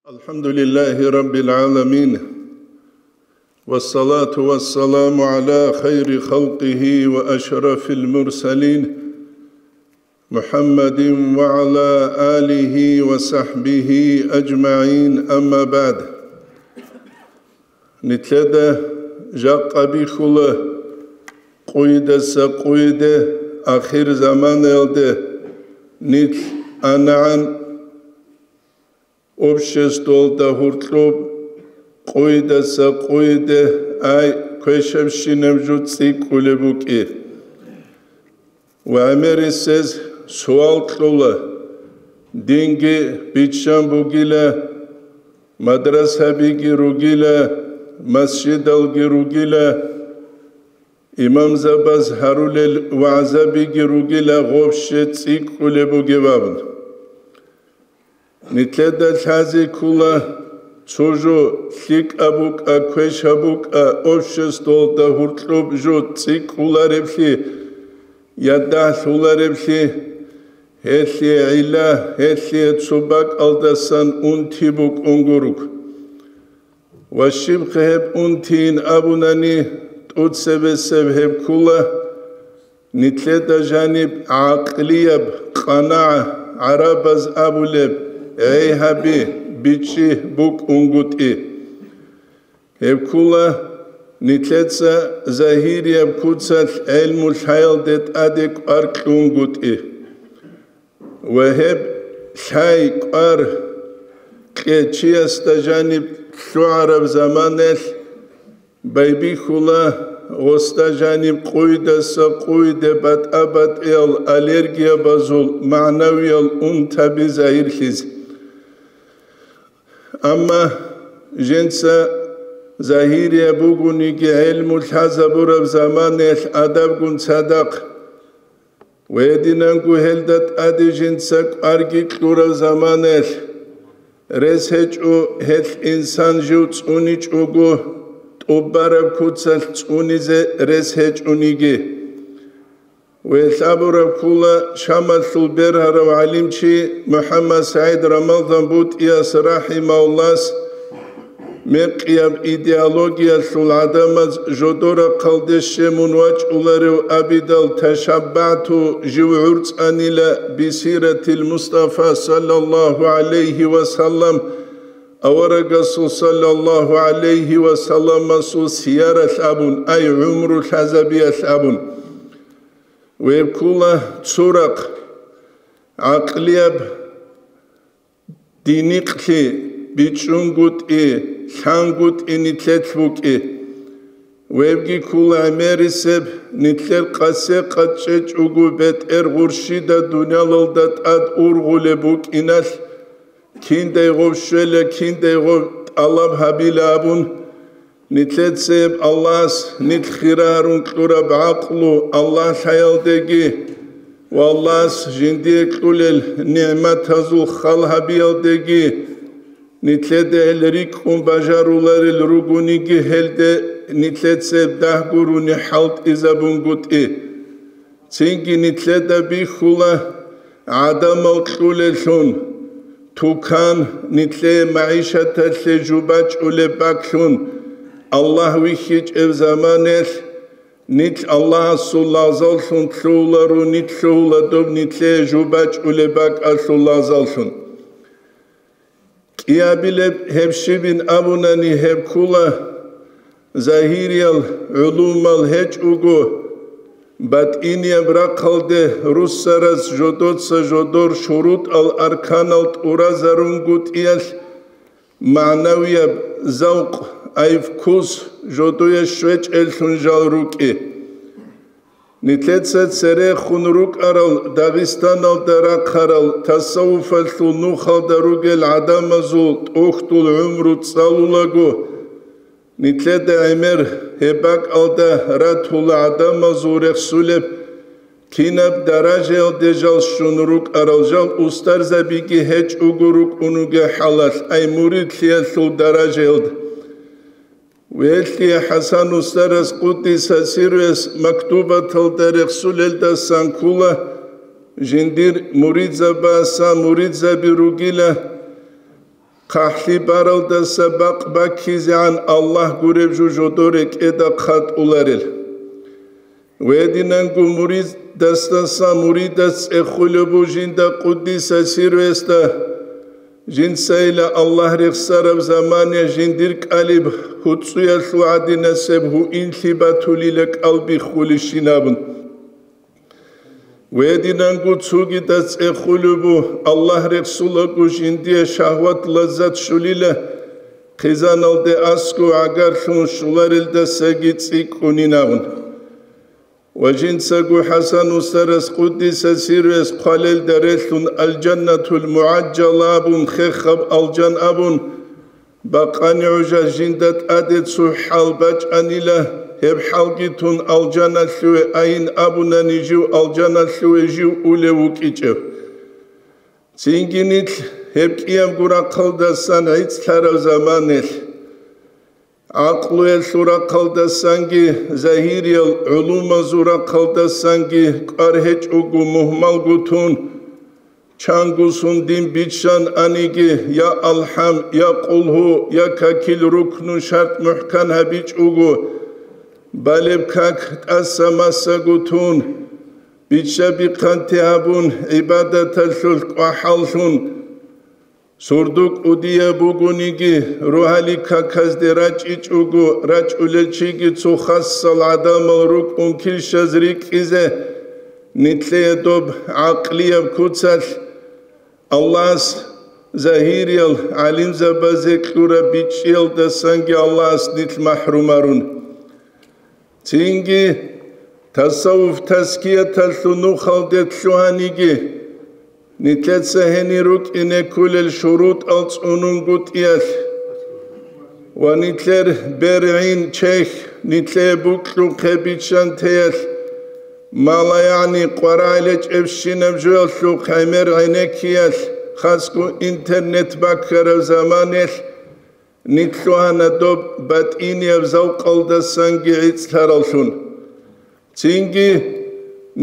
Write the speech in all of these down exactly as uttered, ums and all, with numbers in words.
الحمد لله رب العالمين، والصلاة والسلام على خير خلقه وأشرف المرسلين، محمد وعلى آله وصحبه أجمعين، أما بعد. Нилъеда жакъа бихьула къуйдаса къуйде, ахир заманаялде нилъ анагӀан обществалда гьуркьуб къуйдаса къуйде, ай, квешабщинаб жо цӀикӀкӀулеб букӀи. Ва гӀемерисез суал кьула, динги биччан бугила, мадрасабиги ругила, масжидалги ругила, имамзабаз гьарулел вагӀзабиги ругила, гъобще цӀикӀкӀулеб бугеб абун. Нилъеда лъазе ккула, цо жо лъикӀаб букӀа, квешаб букӀа, обществалда гьуркьуб жо цӀикӀкӀулареблъи, я дагьлъулареблъи, гьелъие гӀилла, гьелъие цо бакӀалдасан унти букӀун гуруг. Ва щибха гьеб унтийин абунани, тӀуцебесеб гьеб ккула, нилъеда жаниб гӀакълияб къанагӀа, гӀарабаз абулеб, гӀей гьаби, бичӀчӀи букӀунгутӀи. Гьеб ккула, нилъеца загьирияб куцалъ гӀелму лъаялде тӀаде кӀвар кьунгутӀи. Ва гьеб лъай-кӀвар кьечиясда жаниб лъугӀараб заманаялъ байбихьула гъосда жаниб къуйдаса къуйде батӀа-батӀиял аллергиябазул магӀнавиял унтаби загьирлъизе. Амма жинца загьирияб бугониги гӀелму лъазабураб заманаялъ адабгун цадахъ, ва гьединанго гьелда тӀаде жинца кӀварги кьураб заманаялъ, рес гьечӀо гьелъ инсан жив цӀуничӀого, тӀубараб куцалъ цӀунизе рес гьечӀониги. Гьелъ абураб ккула Шамалъул бергьарав гӀалимчи МухӀаммад СагӀид Рамазан БутӀияс рахӀимагьуллагьас, мекъияб идеологиялъул гӀадамаз жодор рахъалде щемун вачӀуларев абидал, ташаббагӀту, жив гӀурцӀанила бисиратил Мустафа саллаллагьу гӀалайгьи ва саллам, аварагасул саллаллагьу гӀалайгьи ва салламасул сияралъ абун, ай, гӀумру лъазабиялъ абун. Гьеб ккула цо рахъ, гӀакълияб, динихълъи, бичӀчӀунгутӀи, лъангутӀи нилъелъ букӀи. Гьебги ккула гӀемерисеб, нилъер къасе къачӀечӀого бетӀер гъурщида дуниялалда тӀад ургъулеб букӀиналъ, киндай гъов щвела, киндай гъов тӀалаб гьабила абун, нилъецеб Аллагьас нилъ хира гьарун кьураб гӀакълу Аллагь лъаялдеги ва Аллагьас жиндие кьулел нигӀматазул хал гьабиялдеги, нилъеда гьел рикӀкӀун бажаруларел ругониги, гьелде нилъецеб дагь гурони хӀалтӀизабунгутӀи. Цинги нилъеда бихьула гӀадамал кьулеллъун, тукан, нилъее магӀишаталъе жубачӀулеб бакӀлъун, Аллагь вихьичӀеб заманаялъ, нилъ Аллагьасул лагъзаллъун лъугьуларо, нилъ лъугьула доб нилъее жубачӀулеб бакӀалъул лагъзаллъун. КӀиабилеб гьеб щибин абунани, гьеб ккула, загьириял гӀулумал гьечӀого, батӀинияб рахъалде руссараз жодоца жодор шурутӀал-арканал тӀуразарунгутӀиялъ, магӀнавияб завкъ, ай, вкус жодое щвечӀеллъун жал рукӀи. Нилъеца церехун рукӀарал Дагъистаналда рахъарал тасаввуфалъул нухалда ругел гӀадамазул тӀухьдул гӀумру цӀалулаго, нилъеда гӀемер гьеб бакӀалда ратула гӀадамазул рехсулеб, кинаб даражаялде жал щун рукӀарал, жал устарзабиги гьечӀого рукӀун ругел хӀалалъ, ай, муридлъиялъул даражаялда. Велъи ХӀасан устарас къуддиса сирруяс мактубаталда рехсулелдасан ккула, жиндир муридзабаса муридзаби ругила, хъахӀлъи баралдаса бакъ баккизегӀан Аллагь гуреб жо жодор рекӀеда хъатӀуларел. Гьединанго муридасдаса муридас цӀехулеб буго жинда къуддиса сирругьуясда, жинцайила Аллагь рехсараб замане жиндир кӀалиб гьуцӀуялъул гӀадинасеб гьуинлъи батулила кӀал биххулищин абун. Гьединанго цогидас цӀехулеб буго, Аллагь рехсулаго жиндие шагьват-лаззат щолила, хъизаналде аскӀов гӀагарлъун щоларелдасаги цӀикӀкӀунин абун. Ва жинцаго ХӀасан устарас къуддиса сирругьуяс хъвалелда релълъун алжаннатул мугӀаджжала абун, хехаб алжан абун, бакъани гӀужалъ жинда тӀаде цо хӀал бачӀанила, гьеб хӀалги тун алжаналъуве айин абунани жив алжаналъуве жив улев вукӀичӀеб. Цинги нилъ гьеб кӀиябго рахъалдасан гӀицӀлъараб заманелъ, гӀакълуялъул рахъалдасанги, загьириял гӀулумазул рахъалдасанги кӀвар гьечӀого мугьмалго тун, чанго сундин биччан аниги, я АлхӀам, я Къулгьу, я какил рукну шартӀ мухӀкан гьабичӀого, балеб как тӀаса-масаго тун, бичча-бихъанти гьабун, гӀибадаталъулъ кӀвахӀаллъун, сурдук кӀудияб бугониги, рогьалил каказде рачӀичӀого, рачӀулел чиги цо хасал гӀадамал рукӀун килщаз рикӀкӀизе, нилъее доб гӀакълияб куцалъ, Аллагьас загьириял гӀалимзабазе кьураб бичӀчӀиялдасанги Аллагьас нилъ махӀрумарун. Цинги тасаввуф-тазкияталъул нухалде лъугьаниги, нилъеца гьенир рукӀине кколел шурутӀал цӀунунгутӀиялъ ва нилъер бергӀин чехь, нилъее букьухъе биччантеялъ, малагӀни къварагӀел гьечӀебщинаб жоялъухъ гӀемер гӀенеккиялъ, хасго интернет баккараб заманалъ, нилъ лъугьана доб батӀинияб завкъалдасанги гӀицӀлъараллъун. Цинги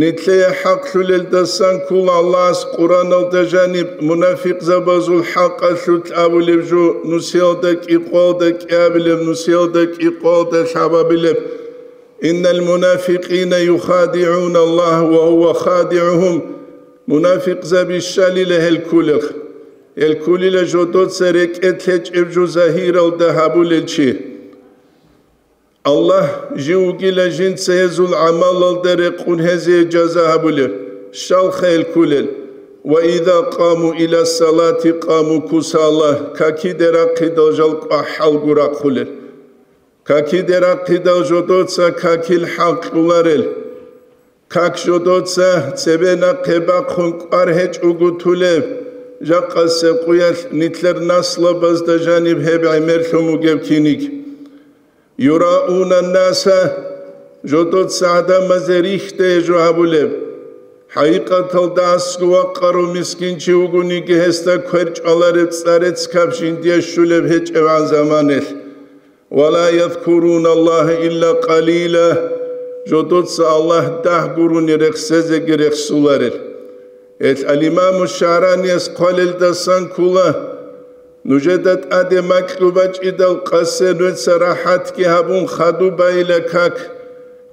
нилъее хӀакълъулелдасан ккола Аллагьас Къуръаналда жаниб мунафикъзабазул хӀакъалъулъ абулеб жо, нусиялда кӀикъоялда кӀиабилеб, нусиялда кӀикъоялда лъабабилеб: «Иннал мунафикъина юхадигӀуна Аллагь ва гьува хадигӀугьум». Мунафикъзаби щалила гьел кколел. Гьел кколила жодоца рекӀелъ гьечӀеб жо загьиралда гьабулел чи. Аллагь жив вугила жинца гьезул гӀамалалда рекъун гьезие жаза гьабулев, щалха гьел кколел: «Ва иза къаму иля салати къаму кусала», какиде рахъидал жал кӀвахӀалго рахъулел. Какиде рахъидал жодоца какил хӀакъ кьоларел. Как жодоца цебе нахъе бахъун кӀвар гьечӀого тулеб, жакъасеб къуялъ нилъер наслабазда жаниб гьеб гӀемерлъун бугеб киниг. Юрауна наса, жодоца гӀадамазе рихьде жо гьабулеб. ХӀакъикъаталда асгу вакъарав мискинчи вугониги гьесда кверчӀвалареб цӀарецкаб жиндие щулеб гьечӀебгӀан заманалъ. «Ва ла язкуруна Аллагьа илля къалила», жодоца Аллагь дагь гурони рехсезеги рехсуларел. Гьел ал-Имаму ШагӀранияс хъвалелдасан ккола: нужеда тӀаде макьу бачӀидал къасе нуца рахӀатги гьабун хаду байила как,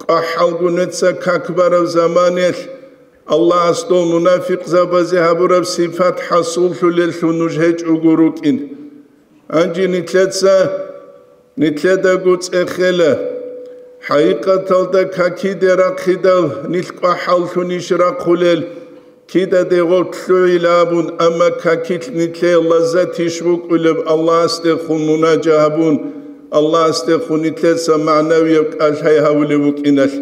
кӀвахӀалго нуца как бараб заманалъ, Аллагьас дол мунафикъзабазе гьабураб сипат хӀасуллъулеллъун нуж гьечӀого рукӀин. Гьанже нилъеца, нилъедаго цӀехела. ХӀакъикъаталда какиде рахъидал нилъ кӀвахӀаллъунищ рахъулел, кидаде гъоркь лъугӀила абун, амма какилъ нилъее лаззатищ букӀулеб Аллагьасдехун мунажа гьабун, Аллагьасдехун нилъеца магӀнавияб кӀалъай гьавулев вукӀиналъ.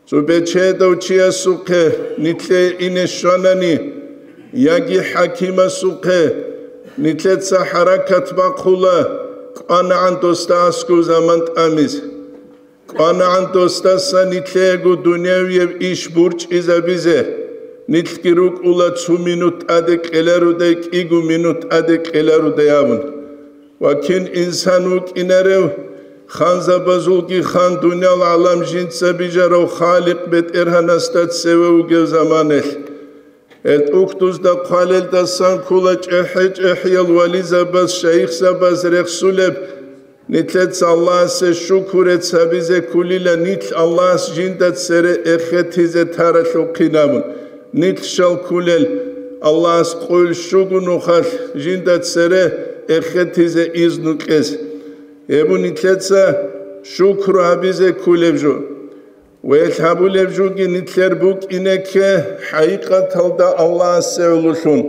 Цо бечедав чиясухъе нилъее ине щванани, яги хӀакимасухъе, нилъеца хӀаракат бахъула, кӀванагӀан досда аскӀов заман тӀамиз. КӀванагӀан досдаса нилъеего дунявияб иш бурчӀизабизе, нилъги рукӀула цо минут тӀаде кьеларудай, кӀиго минут тӀаде кьеларудай абун. Ва кин инсан вукӀинарев, ханзабазулги хан, дуниял гӀалам жинца бижарав Халикъ БетӀергьанасда цеве вугев заманалъ. Гьел тӀухьдузда хъвалелдасан ккола чӀехӀе-чӀехӀиял вализабаз, шайихзабаз рехсулеб. Нилъеца Аллагьасе шукурец гьабизе кколила нилъ Аллагьас жинда цере эхетизе таралъухъин абун. Нилъ щал кколел Аллагьас къойил щуго нухалъ жинда цере эхетизе изну кьез. Гьеб нилъеца шукру гьабизе кколеб жо. Ва гьелъ гьабулеб жоги нилъер букӀине кке, хӀакъикъаталда Аллагьасе гӀололъун,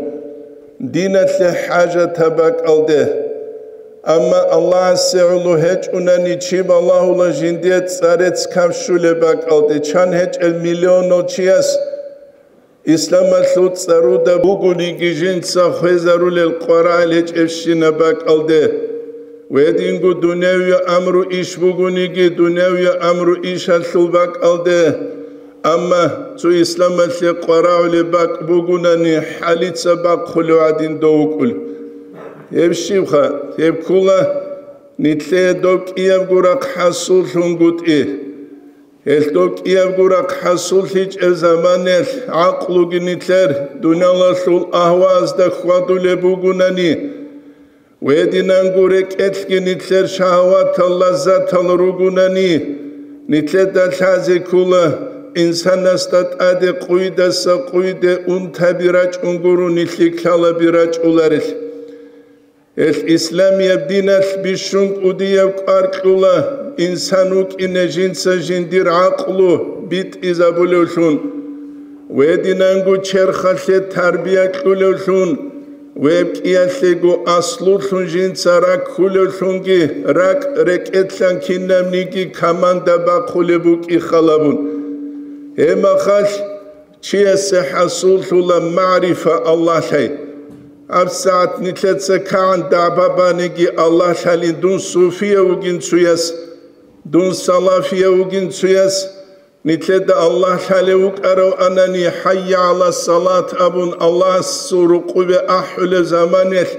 диналъе хӀажатаб бакӀалде. Амма Аллагьасе гӀоло гьечӀунани чи балагьула жиндие цӀарец кавщулеб бакӀалде, чан гьечӀел миллионал чияс исламалъул цӀаруда бугониги жинца хвезарулел къварагӀел гьечӀебщинаб бакӀалде. Гьединго дунявияб амру иш бугониги, дунявияб амру ишалъул бакӀалде, амма цо исламалъе къварагӀулеб бакӀ бугунани, хӀалица бахъулев гӀадин дов вукӀун. Гьеб щибха, гьеб ккола нилъее доб кӀиябго рахъ хӀасуллъунгутӀи. Гьелъ доб кӀиябго рахъ хӀасуллъичӀеб заманаялъ гӀакълуги нилъер дуниялалъул агьваазда хьвадулеб бугунани, гьединанго рекӀелъги нилъер шагьаватал лаззатал ругунани, нилъеда лъазе ккола инсанасда тӀаде къуйдаса къуйде унтаби рачӀун гуро нилъи ккалаби рачӀуларел. Гьелъ исламияб диналъ бищун кӀудияб кӀвар кьула инсан вукӀине жинца жиндир гӀакълу битӀизабулевлъун, гьединанго черхалъе тарбия кьулевлъун, гьеб кӀиялъего аслулъун жинца раккулевлъунги, ракӀ рекӀелъан кинабниги команда бахъулеб букӀи халабун. Гьеб махалъ чиясе хӀасуллъула магӀрифа Аллагьлъай. ГьабсагӀат нилъеца кагӀан дагӀба баниги Аллагьлъалин, дун суфияв вугин цояс, дун салафияв вугин цояс, нилъеда Аллагьлъалев вукӀарав анани, «ХӀайя гӀала салат» абун Аллагьасул рукъубе ахӀулеб заманалъ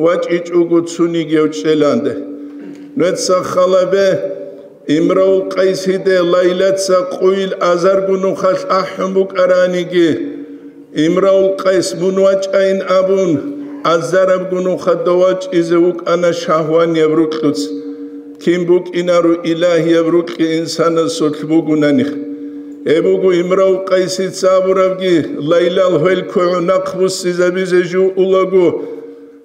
вачӀичӀого цунигияв чӀеланде. Нуца халабе, Имравул Къайсиде Лайлаца къуйил азарго нухалъ ахӀун букӀараниги, Имравул Къайс мун вачӀайин абун, азарабго нухада вачӀизе вукӀана шагьванияб рукьуц. Кин букӀинаро илагьияб рукьи инсанасулъ бугунаних. Гьеб буго Имравул Къайсица абурабги, Лайлал хвел кугӀу нахъбуссизабизе жугьулаго,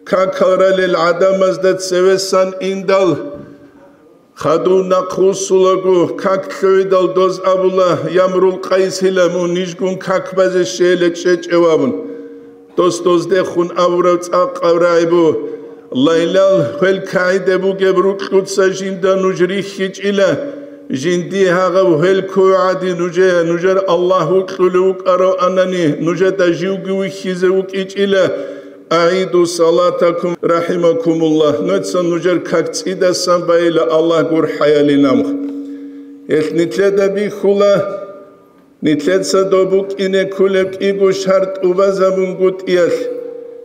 какал ралел гӀадамазда цевесан индал, хадув нахъвуссулаго, как лъугӀидал доз абула, Ямрул Къайсила, мун нижгун как базе щейила чӀечӀев абун. Дос доздехун абураб цӀакъаб рагӀи бу, Лайлал хвел кагӀиде бугеб рукьуца жинда нуж рихьичӀила, жинди гьагъав хвел ккув гӀади нужее, нужер Аллагь вукьулев вукӀарав анани, нужеда живги вихьизе вукӀичӀила, «АгӀиду салатакум, рахӀимакумуллагь», нуца нужер как цӀидасан байила, Аллагь гурхӀаяли намх. Гьелъ нилъеда бихьула, нилъеца доб букӀине кколеб кӀиго шартӀ тӀубазабунгутӀиялъ,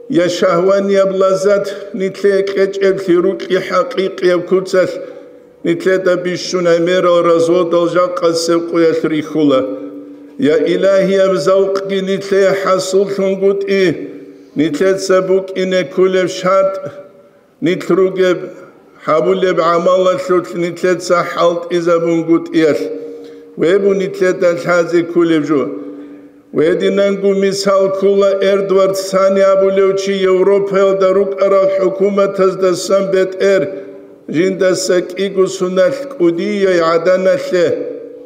я шагьванияб лаззат нилъее кьечӀеблъи рукьи хӀакъикъияб куцалъ, нилъеда бищун гӀемерал разводал жакъасеб къуялъ рихьула. Я илагьияб завкъги нилъее хӀасуллъунгутӀи, нилъеца букӀине кколеб шартӀ, нилъ ругеб, гьабулеб гӀамалалъулъ нилъеца хӀалтӀизабунгутӀиялъ, гьеб нилъеда лъазе кколеб жо. Гьединанго мисал ккола Эдвард Сани абулев чи Европаялда рукӀарал хӀукуматаздасан бетӀер, жиндаса кӀиго соналъ кӀудияй гӀаданалъе,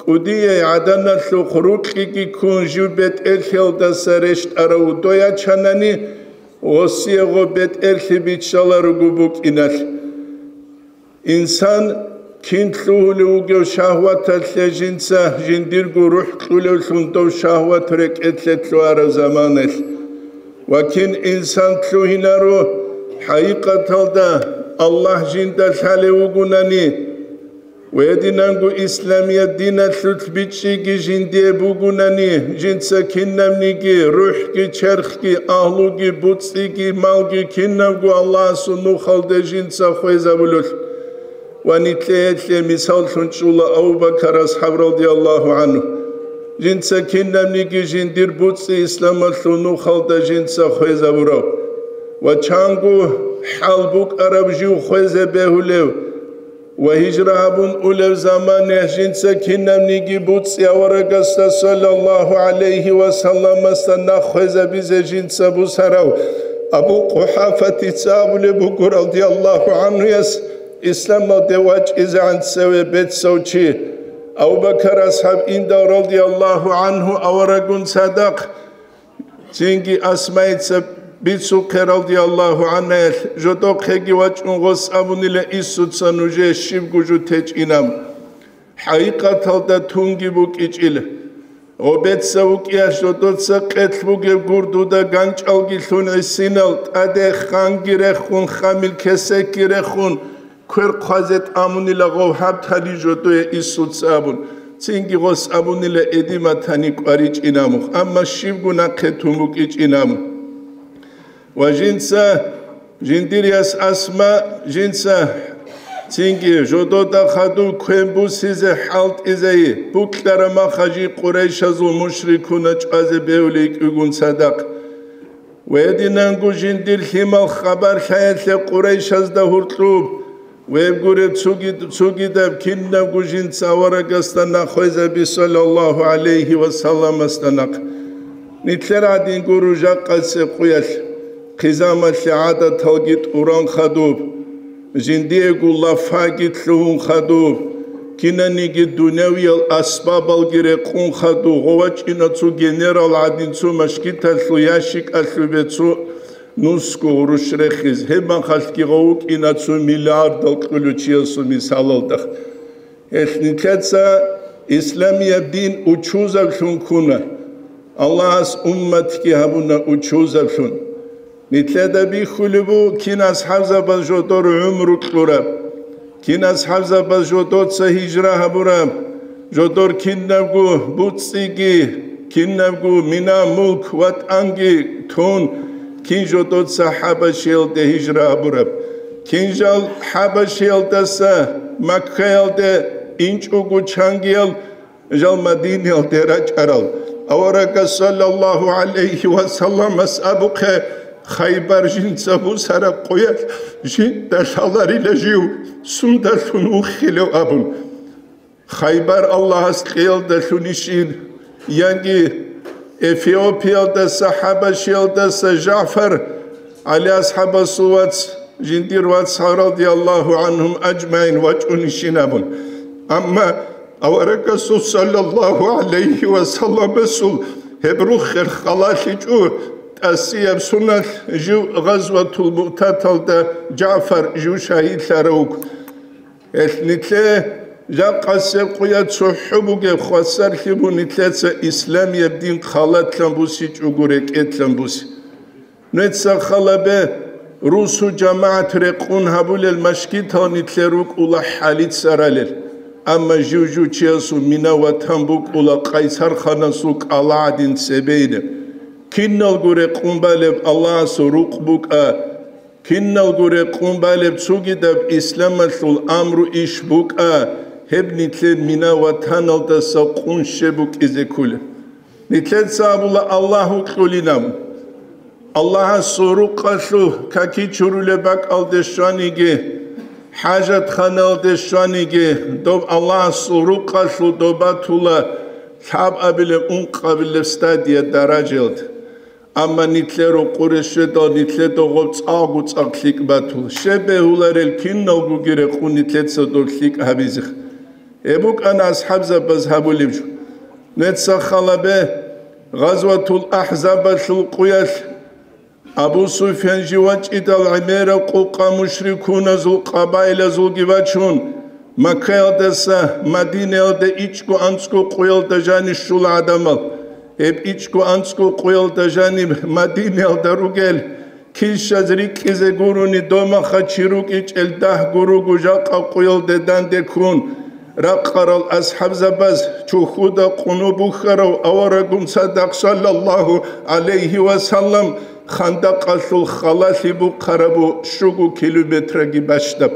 кӀудияй гӀаданалъухъ рукьиги ккун жив бетӀерлъиялдаса рещтӀарав дой ячанани, гъосие гъо бетӀерлъи биччаларуго букӀиналъ. Инсан кин лъугьулев вугев шагьваталъе жинца жиндирго рухӀ кьулевлъун дов шагьват рекӀелъе лъугьараб заманалъ. Ва кин инсан лъугьинаро, хӀакъикъаталда Аллагь жинда лъалев вугунани, гьединанго исламият диналъулъ бичӀчӀиги жиндие бугунани, жинца кинабниги, рухӀги, черхги, агьлуги, буцӀцӀиги, малги кинабго Аллагьасул нухалде жинца хвезабулелъ. Ва нилъее гьелъие мисаллъун чӀула Абу Бакар асхӀаб радияллагьу гӀанху. жинца кинабниги жиндир буцӀцӀи исламалъул нухалда жинца хвезабурав ва чанго хӀал букӀараб жив хвезе бегьулев ва гьижра гьабун улев замане жинца кинабниги буцӀцӀи аварагасда саллаллагьу гӀалайгьи ва салламасда нахъ хвезабизе жинца бусарав Абу КъухӀафатица абулеб буго, радияллагьу гӀанхуяс, исламалде вачӀизегӀан цеве бецав чи, Абу Бакар асхӀаб индал, радияллагьу гӀанху, аварагун цадахъ, цинги Асмаица бицухъе, радияллагьу гӀанхаялъ, жодохъеги вачӀун гъос абунила: «Иссуца нужее щибго жо течӀинаб». ХӀакъикъаталда тунги букӀичӀила. Гъобеца вукӀиялъ жодоца къелъ бугеб гурдуда ганчӀалги лъун гӀисинал, тӀаде ханги рехун, хамил кесекги рехун, квер хъвазе тӀамунила гъов гьаб тани жодое Иссуца абун, цинги гъос абунила эдима тани кӀваричӀинамухъ, амма щибго нахъе тун букӀичӀинаму. Ва жинца, жиндир яс Асма, жинца цинги жодода хадуб квен бусизе хӀалтӀизайи, букьара маха жи Къурайшазул мушрикуна чӀвазе бевли йикӀигун цадахъ. Гьединанго жиндир лъимал хабар лъаялъе Къурайшазда гьуркьуб, веб гуреб цуги-, цугидаб кинабго жинца аварагасда нахъ хвезаби, саллаллагьу гӀалайгьи ва салламасда нахъ. Нилъер гӀадин гуро жакъасе къуялъ, хъизамалъе гӀадаталги тӀуран хадуб, жиндиего лафаги лъугьун хадуб, кинаниги дунявиял асбабалги рекъун хадуб, гъовачӀина цо генерал гӀадин цо машгиталъул ящикалъубе цо нусго гъурущ рехиз, гьеб махалъги гъов вукӀина цо миллиардал кьулев чиясул мисалалда. Гьелъ нилъеца исламияб дин учузаблъун ккуна. Аллагьас умматги гьабуна учузаблъун. Нилъеда бихьулеб буго, кин асхӀабзабаз жодор гӀумру кьураб, кин асхӀабзабаз жодоца гьижра гьабураб, жодор кинабго буцӀцӀиги, кинабго мина-мулк ва тӀанги тун, кин жодоца ХӀабашиялде гьижра гьабураб, кин жал ХӀабашиялдаса Маккаялде инчӀого чангиял жал Мадинаялде рачӀарал. Аварагас саллаллагьу гӀалайгьи ва салламас абухъе, Хайбар жинца бусараб къуялъ жинда лъаларила жив, сундалъун вухилев абун. Хайбар Аллагьас кьеялдалъунищин, яги Эфиопиялдаса, ХӀабашиялдаса ЖагӀфар, ГӀали асхӀабасул вац, жиндир вацал, радияллагьу гӀанхум ажмагӀин, вачӀунищин абун. Амма аварагасул саллаллагьу гӀалайгьи ва салламасул гьеб руххел халалъичӀо, тӀасияб суналъ жив Гъазватул Муътаталда ЖагӀфар жив шагьидлъарав вуго. Гьелъ нилъе жакъасеб къуя цохӀо бугеб хвасарлъи бу нилъеца исламияб дин халатлъан бусичӀого рекӀелъан буси. Нуеца халабе русу жамагӀат рекъун гьабулел машгитал нилъер рукӀула хӀалицаралел, амма жив-жив чиясул мина-ватан букӀула къайсарханасул кӀала гӀадин цебейилеб. Киналго рекъун балеб Аллагьасул рукъ букӀа, киналго рекъун балеб цугидаб исламалъул амру иш букӀа, гьеб нилъер мина-ватаналдаса къун щеб букӀизе кколеб. Нилъеца абула Аллагь вукьулинаб. Аллагьасул рукъалъул каки чурулеб бакӀалде щваниги, хӀажатханалде щваниги, доб Аллагьасул рукъалъул доб батула лъабабилеб, ункъабилеб стадия даражаялда. Амма нилъер рукъуре щведал, нилъеда гъоб цӀакъго цӀакъ лъикӀ батула. Щеб бегьуларел киналгоги рекъун нилъеца доб лъикӀ гьабизе. Гьеб букӀана асхӀабзабаз гьабулеб жо. Нуеца халабе, Гъазватул АхӀзабалъул къуялъ Абу Суфьян жив вачӀидал гӀемераб къукъа мушрикуназул къабаилазулги вачун, Маккаялдаса Мадинаялда ичӀго анцӀго къуялда жаниб щула гӀадамал. Гьеб ичӀго анцӀго къуялда жаниб Мадинаялда ругел, килщаз рикӀкӀизе гурони домаха чи рукӀичӀел дагь гуруго жакъа къуялде данде ккун, ракъарал асхӀабзабаз чухьуда къуноб бухьарав аварагун цадахъ, саллаллагьу гӀалайгьи ва саллам, хандакъалъул халалъи бухъарабу щуго километраги бащдаб.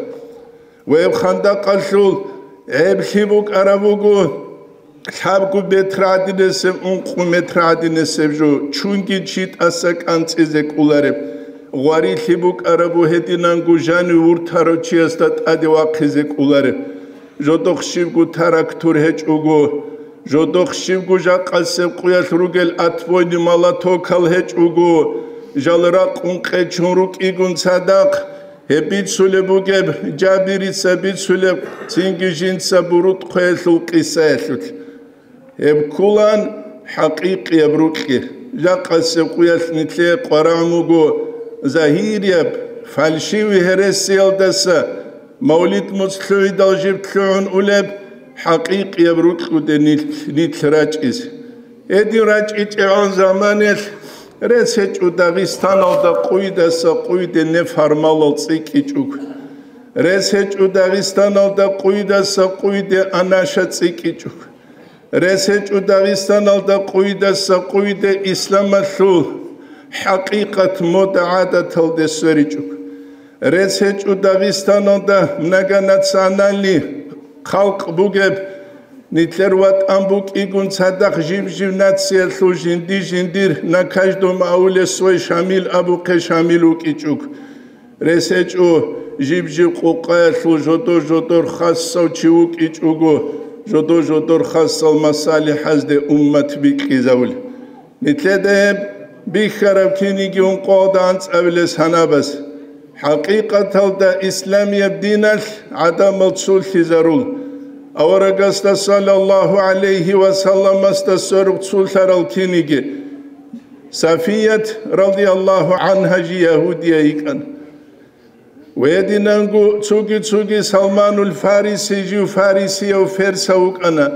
Ва гьеб хандакъалъул гӀеблъи букӀараб буго, Лъабго метр гӀадинасеб, ункъо метр гӀадинасеб жо, чунги чи тӀаса кӀанцӀизе кӀолареб. Гъварилъи букӀарабу гьединанго жанив вуртарав чиясда тӀаде вахъизе кӀолареб. Жодохъ щибго трактор гьечӀого, жодохъ щибго жакъасеб къуялъ ругел отбойный молотокал гьечӀого, жал ракъун къечун рукӀигун цадахъ, гьеб бицулеб бугеб, Жабирица бицулеб, цинги жинца БурутӀхъуялъул къисаялъулъ. Гьеб кколан хӀакъикъияб рукьи. Жакъасеб къуялъ нилъее къварагӀун буго загьирияб, фальшивый гьересиялдаса мавлид-моцӀ лъугӀидал жиб лъугӀун улеб хӀакъикъияб рукьуде нилъ, нилъ рачӀиз. Гьедин рачӀичӀегӀан заманаялъ рес гьечӀо Дагъистаналда къуйдаса къуйде неформалал цӀикӀкӀичӀого. Рес гьечӀо Дагъистаналда къуйдаса къуйде анаша цӀикӀкӀичӀого. Рес гьечӀо Дагъистаналда къуйдаса къуйде исламалъул хӀакъикъат мода гӀадаталде сверичӀого. Рес гьечӀо Дагъистаналда многонациональный халкъ бугеб, нилъер ватӀан букӀигун цадахъ жиб-жиб нациялъул жинди-жиндир на каждом ауле свой Шамил абухъе Шамил вукӀичӀого. Рес гьечӀо жиб-жиб къукъаялъул жодор-жодор хасав чи вукӀичӀого, жодор-жодор хасал масалихӀазде уммат бикьизавули. Нилъеда гьеб бихьараб киниги ункъоялда анцӀабилес гьанабас. ХӀакъикъаталда исламияб диналъ гӀадамал цулъизарул. Аварагасда саллаллагьу гӀалайгьи ва салламасда сверухъ цулъарал киниги. Сафият, радияллагьу гӀангьа, жи ягьудия йикӀана. Гьединанго цоги-цоги Салманул Фариси жив фарисияв персав вукӀана.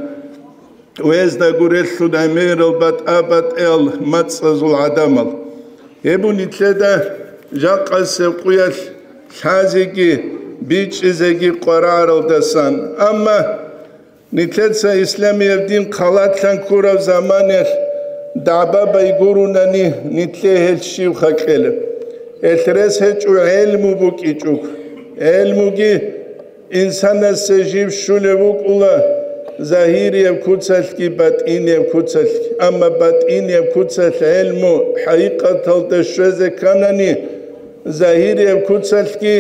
Гьезда гурелъул гӀемерал батӀа-батӀиял мацӀазул гӀадамал. Гьеб нилъеда жакъасеб къуялъ лъазеги бичӀчӀизеги къварагӀаралдасан. Амма нилъеца исламияб дин халатлъан ккураб заманаялъ дагӀба байгурунани, нилъее гьелъ щибха кьела? Гьелъ рес гьечӀо гӀелму букӀичӀого. ГӀелмуги инсанасе жиб щулеб букӀула, загьирияб куцалъги батӀинияб куцалъги. Амма батӀинияб куцалъ гӀелму хӀакъикъаталда щвезе кканани, загьирияб куцалъги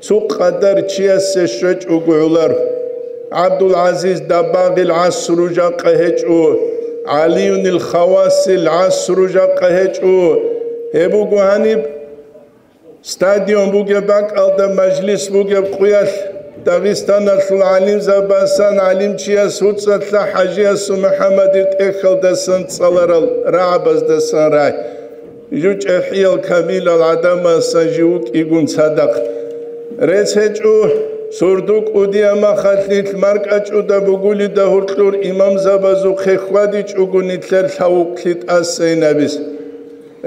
цо къадар чиясе щвечӀого гӀолар. ГӀабдул-ГӀазиз Даббагъил гӀасру жакъа гьечӀо, ГӀалиюнил Хавасил гӀасру жакъа гьечӀо. Гьеб буго гьаниб стадион бугеб бакӀалда мажлис бугеб къуялъ Дагъистаналъул гӀалимзабасан гӀалимчияс гьуцӀалъа ХӀажиясул МухӀаммадил тӀехьалдасан цӀаларал рагӀабаздасан рагӀи. ЖучӀахӀиял камилал гӀадамасан жив вукӀигун цадахъ. Рес гьечӀо, сордо кӀудияб махалъ нилъ маркӀачӀуда бугулида гьоркьор имамзабазухъе хьвадичӀого нилъер лъавукълъи тӀасайин абис.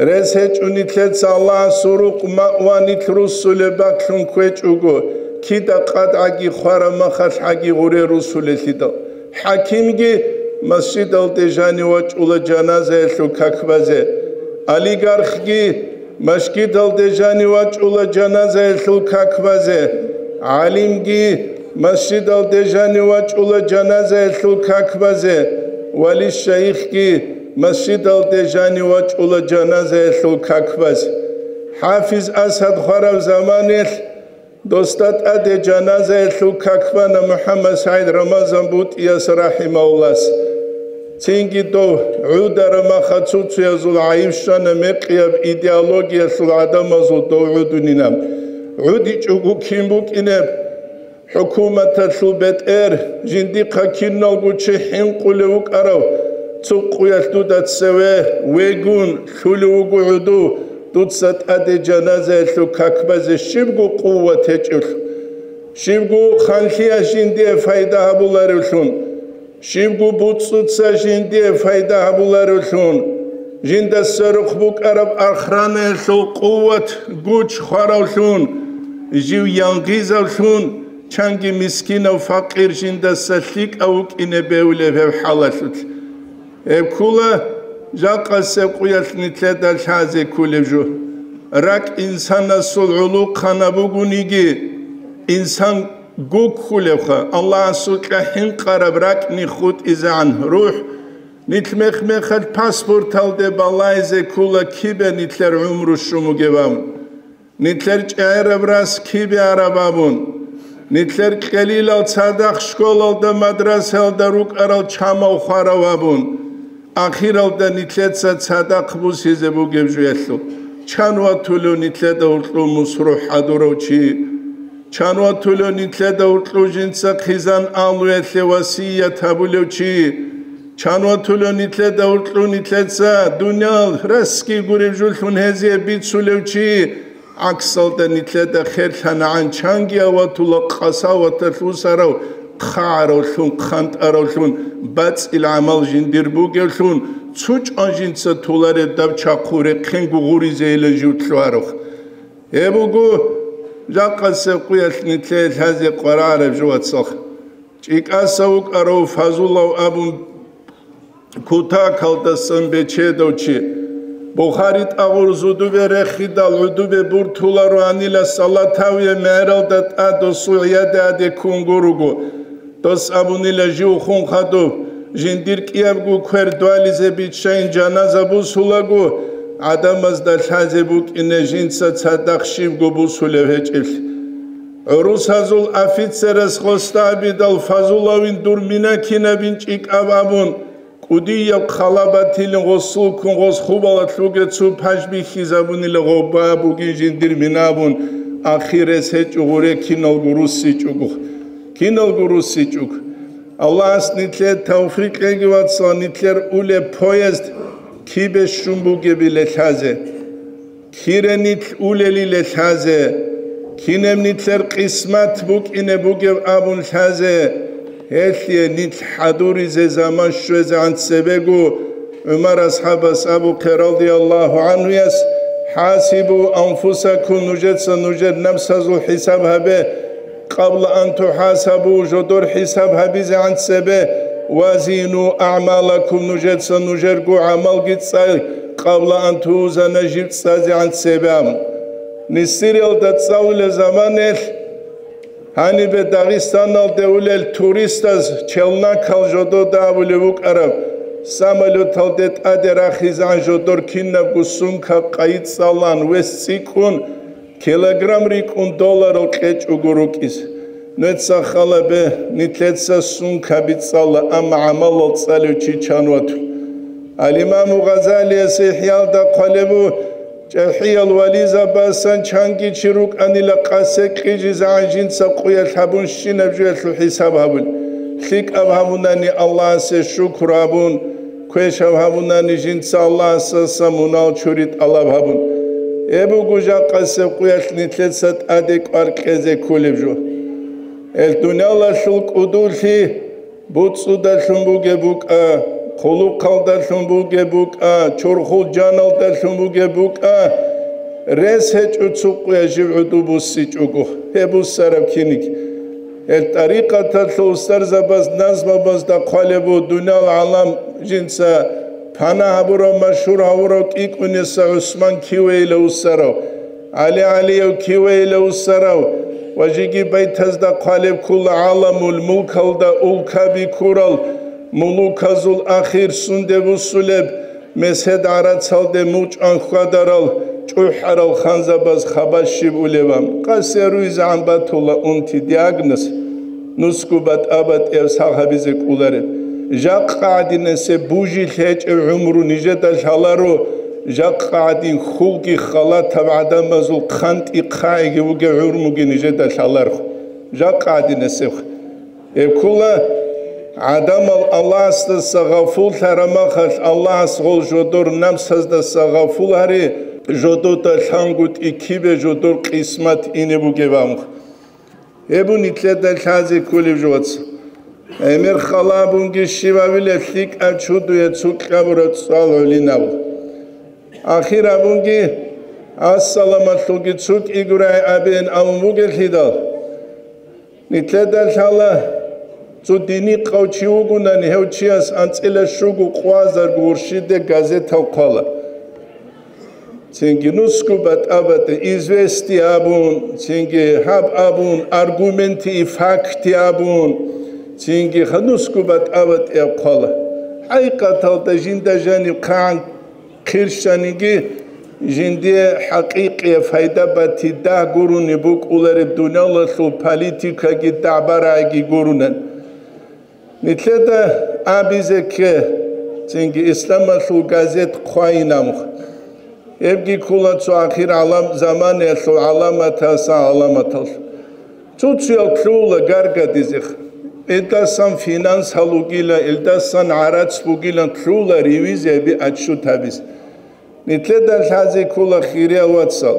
Рес гьечӀо нилъеца Аллагьасул рукъ маъва нилъ руссулеб бакълъун кквечӀого, кида къадгӀаги хвараб махалъ гӀаги гъуре руссулелъидал. ХӀакимги масжидалде жанив вачӀула жаназаялъул как базе. Олигархги масжидалде жанив вачӀула жаназаялъул как базе. ГӀалимги масжидалде жанив вачӀула жаназаялъул как базе. Вали-шайихги масжидалде жанив вачӀула жаназаялъул как базе. ХӀафиз Асад хвараб заманаялъ досда тӀаде жаназаялъул как бана МухӀаммад СагӀид Рамазан БутӀияс рахӀимагьуллагьас. Цинги дов гӀудараб маха цуцуязул гӀайиб щвана мекъияб идеологиялъул гӀадамазул дов гӀудунилан. ГӀудичӀого кин букӀинеб? ХӀукуматалъул бетӀер, жиндихъа киналго чи хӀинкъулев вукӀарав, цо къуялъ дуда цеве вегун лъулев вуго гӀуду, дуца тӀаде жаназаялъул как базе щибго къуват гьечӀевлъун, щибго ханлъиялъ жиндие пайда гьабуларевлъун, щибго буцӀцӀуца жиндие пайда гьабуларевлъун, жинда сверухъ букӀараб охранаялъул къуват, гуч хваравлъун, жив янгъизавлъун, чанги мискинав-факъир жиндаса лъикӀав вукӀине бегьулеб гьеб хӀалалъулъ. Гьеб ккула жакъасеб къуялъ нилъеда лъазе кколеб жо. РакӀ инсанасул гӀолохъанаб бугониги, инсан гуккулевха, Аллагьасукьа хӀинкъараб ракӀни хутӀизегӀан рухӀ, нилъ мех-мехалъ паспорталде балайзе ккула кибе нилъер гӀумру щун бугеб абун, нилъер чӀегӀераб рас кибе араб абун, нилъер кьелилал цадахъ школалда, мадрасаялда рукӀарал чамав хварав абун, ахиралда нилъеца цадахъ бусизе бугеб жуялъул, чан ватулев нилъеда гьуркьу мусрухӀ хӀадурав чи? Чан ватулев нилъеда гьуркьу жинца хъизан алуялъе васият гьабулев чи? Чан ватулев нилъеда гьуркьу нилъеца дуниял расги гуреб жуллъун гьезие бицулев чи? ГӀаксалда нилъеда херлъанагӀан чанги аватула къасаваталъ усарав, хъагӀаравлъун, хъантӀаравлъун, бацӀил гӀамал жиндир бугевлъун, цо чӀван жинца толареб даб чахъу рехъенго гъуризейила жив лъугьарав. Гьеб буго жакъасеб къуялъ нилъее лъазе къварараб жо, вацал. ЧӀикӀаса вукӀарав Фазулав абун кутакалдасан бечедав чи. Бухари тӀагъур зудубе рехидал гӀудубе буртуларо гьанила Салатавие мегӀералда тӀад досул гӀияде гьаде ккун гуруго. Дос абунила жив хун хадуб, жиндир кӀиябго квер дугьализе биччайин жаназа бусулаго, гӀадамазда лъазе букӀине жинца цадахъ щибго бусулев гьечӀеблъи. ГӀурусазул офицерас гъосда абидал Фазулавин дур мина кинабин чӀикӀаб абун, кӀудияб хъала батилин гъосулккун гъос хубалалъуге цо паж бихьизабунила гъоба бугин жиндир мина абун, ахирес гьечӀо гъуре киналго руссичӀого. Киналго руссичӀого. Аллагьас нилъее тавфикъ кьеги, вацал, нилъер улеб поезд кибе щун бугебиле лъазе. Кире нилъ улелиле лъазе, кинеб нилъер къисмат букӀине бугеб абун лъазе, гьелъие нилъ хӀадуризе заман щвезегӀан цебего ГӀумар асхӀабас абухъе радияллагьу гӀанхуяс: «ХӀасибу анфусакум», нужеца нужер напсазул хӀисаб гьабе, «къабла ан тухӀасабу», жодор хӀисаб гьабизегӀан цебе, «ва зину агӀмалакум», нужеца нужерго гӀамалги цӀай, «къабла ан тузана», жиб цӀазегӀан цебе абун. Нисириялда цӀалулел заманаялъ гьанибе Дагъистаналде улел туристаз челнокал жодода абулеб букӀараб, самолеталде тӀаде рахизегӀан жодор кинабго сумка къайи цӀалан вес цӀикӀкӀун, килограмм рикӀкӀун долларал кьечӀого рукӀиз. Нуеца хал гьабе, нилъеца сумка бицӀцӀала, амма гӀамалал цӀалев чи чан ватун. Ал-Имаму Гъазалияс ИхӀялда хъвалеб буго, чӀахӀиял вализабасан чанги чи рукӀанила къасе кьижизегӀан жинца къуялъ гьабунщинаб жоялъул хӀисаб гьабун. ЛъикӀаб гьабунани Аллагьасе шукру гьабун, квешаб гьабунани жинца Аллагьасдаса мунагь чури тӀалаб гьабун. Гьеб буго жакъасеб къуялъ нилъеца тӀаде кӀвар кьезе кколеб жо. Гьел дуниялалъул кӀудулъи буцӀцӀудалъун бугеб букӀа, хъулухъалдалъун бугеб букӀа, чорхол жаналдалъун бугеб букӀа, рес гьечӀо цо къуя жив гӀуду буссичӀого, гьеб буссараб киниг. Гьел тӀарикъаталъул устарзабаз назмабазда хъвалеб буго дуниял гӀалам жинца пана гьабурав, машгьур гьавурав КӀикӀуниса ГӀусман кивейила уссарав, ГӀали ГӀалияв кивейила уссарав ва жеги байтазда хъвалеб ккола гӀаламул мулкалда улкаби ккурал мулуказул ахир сунде буссулеб, месед гӀарацалде мучӀан хьвадарал чӀухӀарал ханзабаз хабар щиб улебан, къасе руйзегӀан батула унти диагноз, нусго батӀа-батӀияб сагъ гьабизе кӀолареб. Жакъа гӀадинасеб бужилъ гьечӀеб гӀумру нижеда лъаларо, жакъа гӀадин хьулги халатаб гӀадамазул хъантӀи хъагӀиги вугев гӀумруги нижеда лъаларху. Жакъа гӀадинасеб. Гьеб ккола, гӀадамал Аллагьасдаса гъафуллъараб махалъ, Аллагьас гъол жодор напсаздаса гъафул гьари, жодода лъангутӀи кибе жодор къисмат ине бугеб абун. Гьеб бу нилъеда лъазе кколеб жо, вацал. ГӀемер хал гьабунги щиб гьавилеб, лъикӀаб чудуе цо кьабураб цӀал гӀолин гьабу. Ахир гьабунги, ассаламалъулги цо кӀигурай абеян абун бугелъидал, нилъеда лъала, цо динихъав чи вугунани, гьев чияс анцӀила щуго къвазарго гурщиде газетал хъвала. Цинги нусго батӀа-батӀи извести абун, цинги гьаб абун, аргументи и факти абун, цинги ха нусго батӀа-батӀияб хъвала. ХӀакъикъаталда жинда жаниб хъан хъирщаниги, жиндие хӀакъикъияб пайда батидагь гурони букӀулареб дуниялалъул политикаги дагӀба-рагӀиги гуронан. Нилъеда абизе кке, цинги исламалъул газет хъвайин амх. Гьебги ккола цо ахир гӀалам-, заманаялъул гӀаламатасан гӀаламаталъ. Цо-цоял лъугьула гаргадизех. Илдасан финанс гьалугила, илдасан гӀарац бугилан лъугьула ревизияби отчет гьабизе. Нилъеда лъазе ккола, хириял вацал,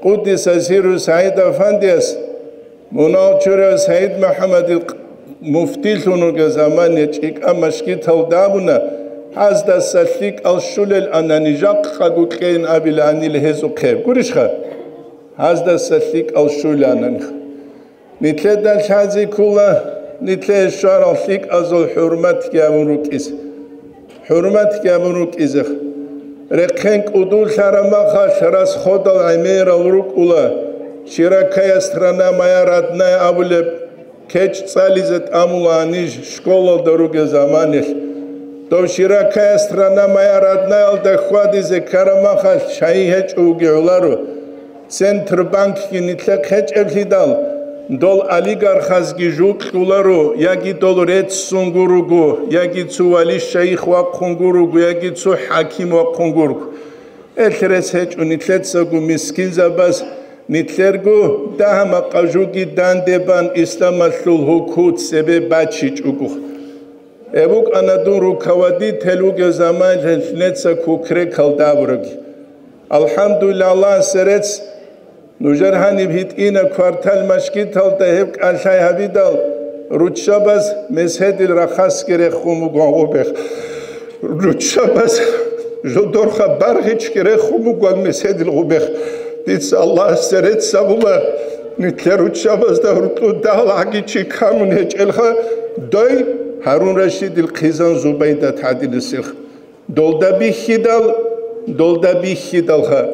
къуддиса сирругьу СагӀид Афандияс, мунагьал чураяв СагӀид МухӀаммадил муфтилъун вугев замане чӀикӀа машгиталда абуна, гьаздаса лъикӀал щулел анани жакъаго кьейин абиланила гьезухъе. Гурищха? Гьаздаса лъикӀал щулел ананихъ. Нилъеда лъазе ккола, нилъее щварал лъикӀазул хӀурматги гьабун рукӀизе. ХӀурматги гьабун рукӀизех. Рехъен кӀудулъараб махалъ расходал гӀемерал рукӀула, широкая страна моя родная абулеб кечӀ цӀализе тӀамула гьаниж школалда ругел заманилъ. Дов широкая страна моя роднаялда хьвадизе ккараб махалъ шайи гьечӀо вуги гӀоларо. Центробанкги нилъехъ гьечӀеблъидал, дол олигархазги жукьуларо, яги дол реццун гуруго, яги цо вали-шайих вахъун гуруго, яги цо хӀаким вахъун гуруго. Эл рес гьечӀо нилъецаго мискинзабаз, нилъерго дагьа-макъа жуги данде бан исламалъул гьукумат цебе бачичӀого. Гьеб букӀана дун руководитель вугев заманалъ неца кукрекалда абураги. АлхӀамдулиллагь, Аллагьасе рецц, нужер гьаниб гьитӀина квартал машгиталда гьеб кӀалъай гьабидал, руччабаз меседил рахасги рехун бугон гъубех. Руччабаз жодорха баргъичги рехун бугон меседил гъубех. Дица Аллагьасе рецц абула, нилъер руччабазда гьуркьу дагьал гӀаги чи камун гьечӀелха, дой Гьарун Рашидил хъизан Зубайдат гӀадинасех. Долда бихьидал, долда бихьидалха.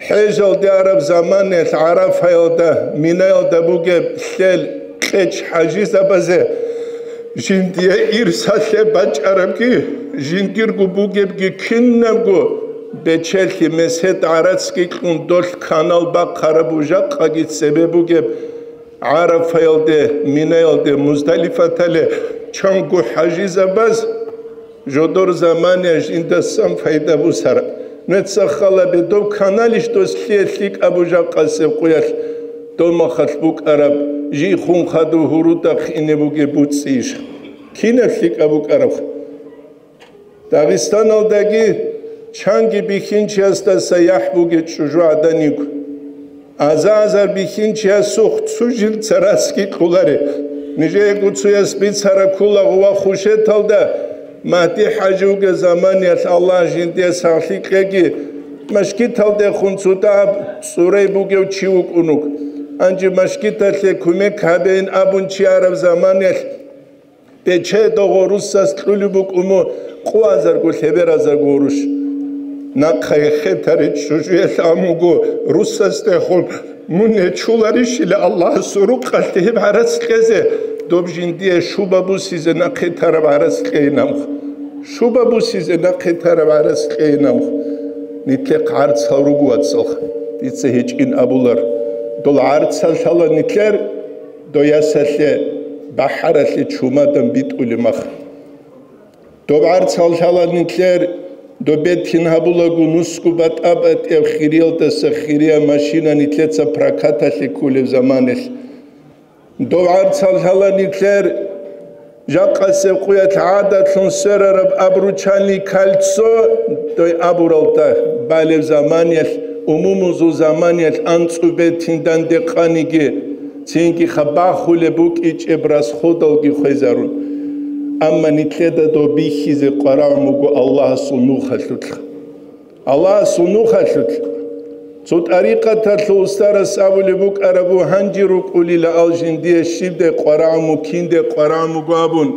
ХӀежалде араб заманаялъ ГӀарафаялда, Минаялда бугеб лъел кьечӀ хӀажизабазе жиндие ирсалъе бачӀарабги, жиндирго бугебги кинабго бечелъи месед гӀарацги кьун долъ канал бахъараб жакъаги цебе бугеб ГӀарафаялде, Минаялде, Муздалифатале чанго хӀажизабаз жодор заманаялъ жиндасан пайда бусараб. Нуца хал гьабе, доб каналищ дос лъие лъикӀаб жакъасеб къуялъ, доб махалъ букӀараб, жий хун хадув гьурудахъ ине бугеб буцӀцӀийищ? Кинаб лъикӀаб букӀараб? Дагъистаналдаги чанги бихьинчиясдаса яхӀ бугеб чӀужугӀадан йиго. Аза-азар бихьинчиясухъ цо жил царасги кьоларе. Нижеего цояс бицараб ккола гъува Хушеталда, Магьди-хӀажи вугеб заманаялъ, Аллагь жиндие сахлъи кьеги, машгиталдехун цо дагьаб цӀурай бугев чи вукӀун вуго. Гьанже машгиталъе кумек гьабейин абун чи араб заманаялъ, Бечедого руссас кьулеб букӀун мун къоазарго лъеберазарго гъурущ. Нахъа гьехе таричӀ чӀужуялъ амуго руссасдехун мун нечуларищила Аллагьасул рукъалъе гьеб гӀарац кьезе, доб жиндие шуба бусизе нахъе тараб гӀарац кьейин амх. Шуба бусизе нахъе тараб гӀарац кьейин амх. Нилъехъ гӀарцал руго, вацалха, дица гьечӀин абулар. Дол гӀарцал лъала нилъер Дой ясалъе, бахӀаралъе чумадан битӀулеб мах. Доб гӀарцал лъала нилъер, доб бетин гьабулаго нусго батӀа-батӀияб хириялдаса хирияв машина нилъеца прокаталъе кколеб заманалъ. Доб гӀарцал лъала нилъер, жакъасеб къуялъ гӀадатлъун сверараб обручальный кольцо дой абуралда балеб заманаялъ, умумузул заманаялъ анцӀу бетин данде къаниги, цинги хабахулеб букӀичӀеб расходалги хвезарун. Амма нилъеда доб бихьизе къварагӀун буго Аллагьасул нухалъулъ. Аллагьасул нухалъулъ. Цо тӀарикъаталъул устарас абулеб букӀараб буго, гьанже рукӀулила ал жиндие щибдай къварагӀун мукинде къварагӀун буго абун.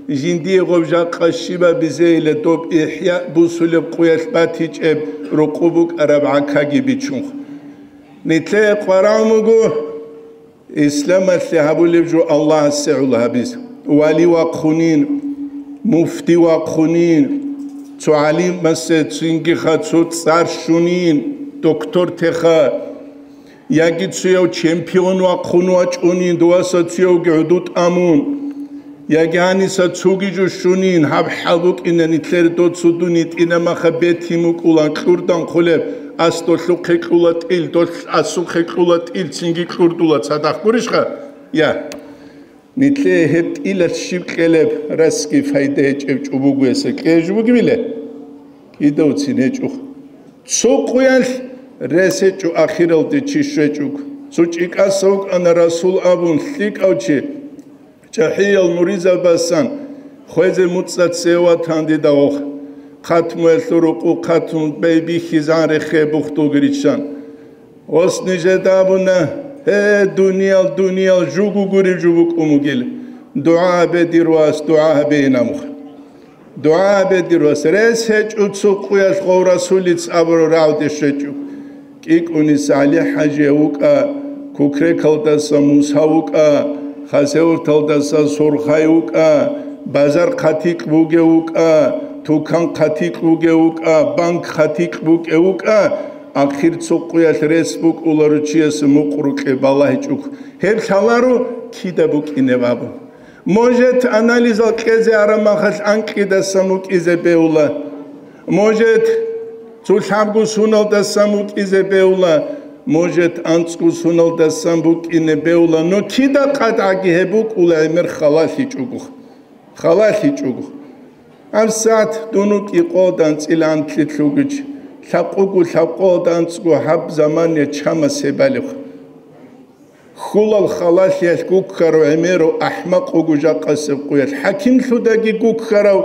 Жиндие гъоб жакъа щибаб бизейиле доб ихӀя бусулеб къуялъ батичӀеб рукъу букӀараб гӀакаги бичунха. Нилъее къварагӀун буго исламалъе гьабулеб жо Аллагьасе гӀоло гьабизе. Вали вахъунин, муфти вахъунин, цо гӀалимасе цинги ха цо цӀар щунин, доктор теха. Яги цуяв чемпион вахъун вачӀунин, дуваса цуявги гӀуду тӀамун. Яги гьаниса цуги жо щунин, гьаб хӀал букӀина нилъер доцу дуни тӀинамаха бетин букӀулан кьурдан хъулеб, ас долъухъе кьула тӀил, долъ асухъе кьула тӀил, цинги кьурдула цадахъ гурищха? Я. Нилъее гьеб тӀилалъ щиб кьелеб, расги пайда гьечӀеб чӀубугуяса кьеж бугебиле? Кидавцин гьечӀо. Цо къуялъ рес гьечӀо ахиралде чи щвечӀого. Цо чӀикӀаса вукӀана Расул абун лъикӀав чи, чӀахӀиял муридзабасан хвезе муцӀа цеватан дида гъох. Хъатмуялъул рукъу хъатму бей бихьизан рехе бухдулги риччан. Ос нижеда абуна: «Гье, дуниял, дуниял, жугу гуреб жо букӀун бугел. ДугӀа гьабе, дир вас, дугӀа гьабе», — ин абуха. ДугӀа гьабе, дир вас, рес гьечӀо цо къуялъ гъов Расулица абураб рагӀуде щвечӀо. КӀикӀуниса ГӀали-хӀажияв вукӀа, Кукрекалдаса Муса вукӀа, Хасавюрталдаса Сурхай вукӀа, базар хъатикь бугев вукӀа, тукан хъатикь бугев вукӀа, банк хъатикь букӀев вукӀа, ахир цо къуялъ рес букӀуларо чиясе мукърукье балагьичӀого. Гьеб лъаларо кида букӀинеб абун. Может, анализал кьезе араб махалъ анкьидасан вукӀизе бевла. Может, цо лъабго суналдасан вукӀизе бевла. Может, анцӀго суналдасан букӀине бевла. Но кида къатӀаги гьеб букӀула гӀемер халалъичӀого. ХалалъичӀого. ГьабсагӀат дун вукӀи къолда анцӀила анлъи лъугьич, лъабкъого лъабкъолда анцӀго гьаб заман я чамас гьеб балеб. Хьулал халалъиялъ гуккарав гӀемерав ахӀмакъ вуго жакъасеб къуялъ, хӀакимлъудаги гуккарав,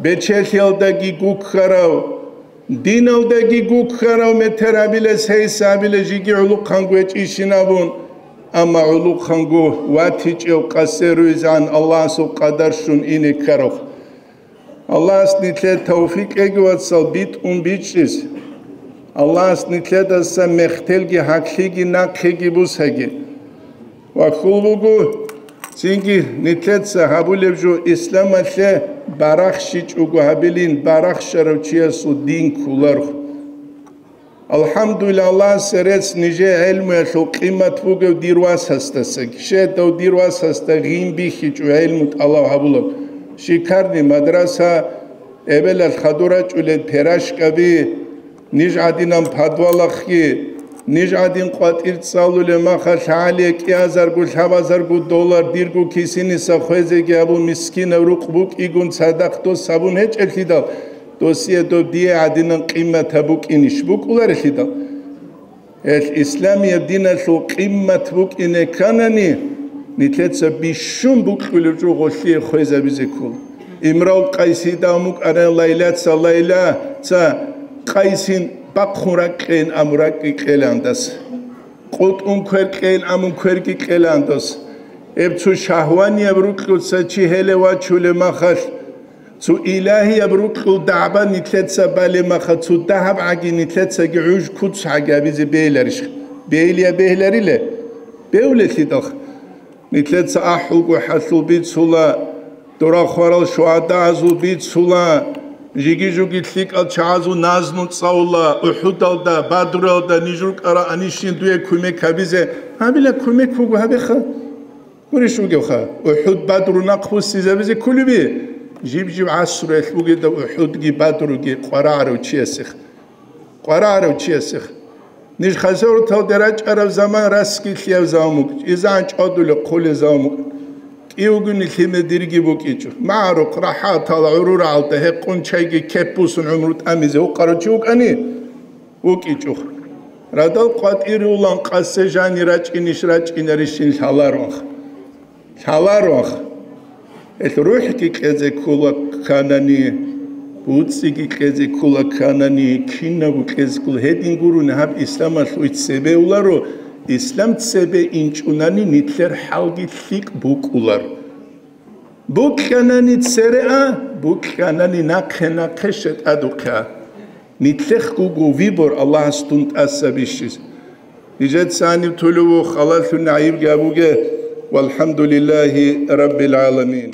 бечелъиялдаги гуккарав, диналдаги гуккарав метер гьабилес гьейса гьабиле жиги гӀулухъанго гьечӀищин абун, амма гӀулухъанго ватичӀев къасе руйзан Аллагьасул къадар щун ине ккарав. Аллагьас нилъее тавфикъ кьеги, вацал, битӀун бичӀчӀиз. Аллагьас нилъедаса мехтелги гьаклъиги нахъеги бусаги. Ва хьул буго, цинги нилъеца гьабулеб жо исламалъе барахщичӀого гьабилин, барахщарав чиясул дин кколарго. АлхӀамдулиллагь, Аллагьасе рецц нижее гӀелмуялъул къимат бугев дир васасдасаги. Щедав дир васасда гъин бихьичӀо гӀелму тӀалаб гьабулеб. Шикарный мадраса, эбелалъ хадур рачӀулел пирожкаби, ниж гӀадинан подвалахъги, ниж гӀадин къватӀир цӀалулеб махалъ гьалие кӀиазарго, лъабазарго доллар дирго кисиниса хвезеги абун мискинав рукъ букӀигун цадахъ дос гьабун гьечӀеблъидал, досие доб дие гӀадинан къимат гьаб букӀинищ букӀуларелъидал? Гьелъ исламияб диналъул къимат букӀине кканани, нилъеца бищун букьулев жо гъолъие хвезабизе ккола. Имрал Къайсида амукӀарай Лайлаца, Лайлаца Къайсин бахъун ракӀкӀейин аму ракӀкӀи кьеландас. КъутӀун квер кьейин амун кверги кьеландас. Гьеб цо шагьванияб рукьуца чи гьеле вачулеб махалъ, цо илагьияб рукьул дагӀба нилъеца балемаха, цо дагьаб гӀаги нилъецаги гӀуж куц гӀаги абизе бейиларищ? Бейилия бегьилариле? Бевлелъидалха. Нилъеца ахӀулго хӀалъул бицула, дора хварал шугьадагӀазул бицула, жиги-жуги лъикӀал чагӀазул назму цӀалула, УхӀудалда, Бадруялда ниж рукӀара анищин дуе кумек гьабизе, гьабила кумек буго гьабеха. Гурищ вугевха, УхӀуд-Бадру нахъ буссизабизе кколеби? Жиб-жиб гӀасруялъ бугеда УхӀудги Бадруги къварагӀарав чиясех. КъварагӀарав чиясех. Ниж хасавурталде рачӀараб заман расги лъияб заман букӀ, изан чӀвадулеб хъулеб заман букӀ. КӀиявгуни лъимер дирги букӀичӀо. МагӀарухъ рахӀатал гӀурурагӀалда гьекъун чайги кеп бусун гӀумру тӀамизе вукъарав чи вукӀани? ВукӀичӀо. Радал къватӀире улан къасе жани рачӀинищ рачӀинарищин лъаларонха. Лъаларонха. Гьелъ рухӀги кьезе ккола кканани, буцӀиги кьезе ккола кканани, кинабго кьезе ккола. Гьедин гурони гьаб исламалъул цебе уларо, ислам цебе инчӀунани нилъер хӀалги лъикӀ букӀулар. Букьанани цере а, букьанани нахъе-нахъе шетӀадухъе а. Нилъехъ буго выбор Аллагьас дун тӀаса бищизе. Нижеца гьаниб тулев вух, Аллагьлъун гӀайибги гьабуге. ВалхӀамдулиллагьи раббил гӀаламин.